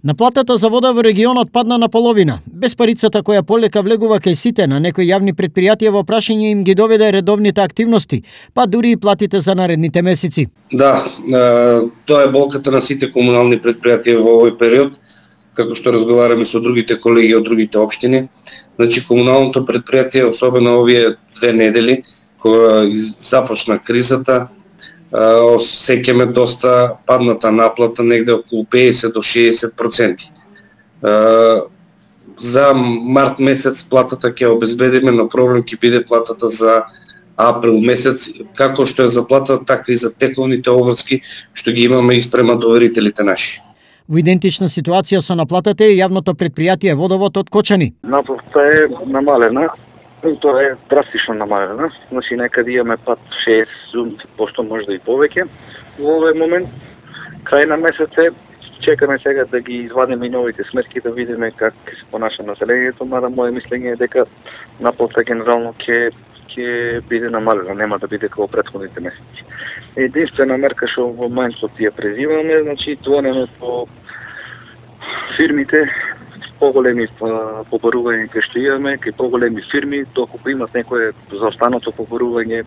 Наплатата за вода во регионот падна на половина. Без парицата која полека влегува кај сите, на некои јавни предпријатија во прашање им ги доведе редовните активности, па дури и платите за наредните месеци. Да, тоа е болката на сите комунални предпријатија во овој период, како што разговараме со другите колеги од другите општини. Значи, комуналното предпријатие, особено овие 2 недели, кога започна кризата, сеќаме доста падната наплата, негде околу 50 до 60%. За март месец платата ќе обезбедиме, но проблем ќе биде платата за април месец, како што е за платата, така и за тековните обврски што ги имаме и спрема доверителите наши. Во идентична ситуација со наплатата е јавното предпријатие Водовод од Кочани. Наплата е намалена. Тоа е драстично намалена, значи некаде имаме пат 60%, можда и повеќе. Во овој момент, крај на месец е, чекаме сега да ги извадиме и новите сметки, да видиме как се понаша населението, мада моје мислење е дека наплата генерално ќе биде намалена, нема да биде како претходните месеци. Единствена мерка што во моментот ја презиваме, значи звонеме по фирмите, поголеми побарување кај што имаме, кај поголеми фирми, доколку имат некое заостанато побарување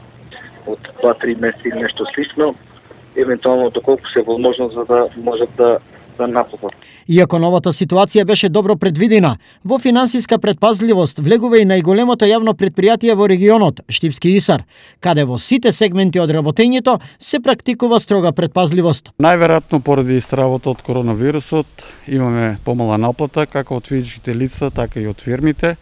од 2-3 месеци нешто слично, евентуално доколку се возможно за да можат да наплатат. Иако новата ситуација беше добро предвидена, во финансиска предпазливост влегува и најголемото јавно предпријатие во регионот, Штипски ИСАР, каде во сите сегменти од работењето се практикува строга предпазливост. Најверојатно поради стравот од коронавирусот имаме помала наплата како од физичките лица, така и од фирмите.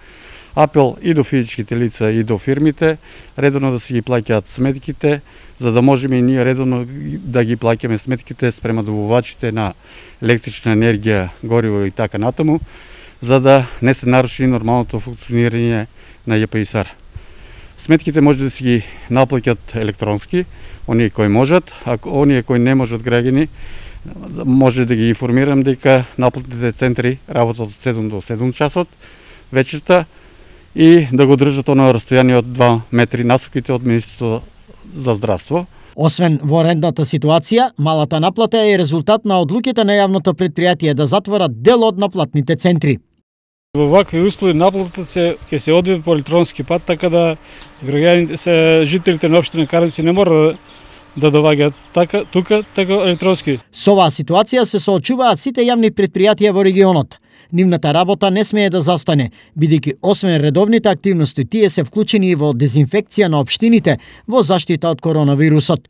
Апел и до физичките лица и до фирмите, редовно да си ги плаќаат сметките, за да можеме и ние редовно да ги плаќаме сметките спрема добувачите на електрична енергија, гориво и така натаму, за да не се наруши нормалното функционирање на ЈПИСАР. Сметките може да си ги наплаќат електронски, оние кои можат, а оние кои не можат граѓани, може да ги информирам дека наплатните центри работат од 7 до 7 часот вечерта и да го држат оно растојание од 2 метри насоките од Министерството за здравство. Освен во редната ситуација, малата наплата е резултат на одлуките на јавното предпријатие да затворат дел од наплатните центри. Во вакви услови наплатата ќе се одвие по електронски пат, така да граѓаните, жителите на општина Каранци не мора да доваѓаат тука електронски. Со оваа ситуација се соочуваат сите јавни предпријатија во регионот. Нивната работа не смее да застане, бидејќи освен редовните активности, тие се вклучени и во дезинфекција на општините во заштита од коронавирусот.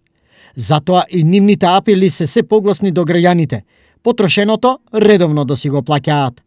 Затоа и нивните апели се погласни до граѓаните. Потрошеното редовно да си го плаќаат.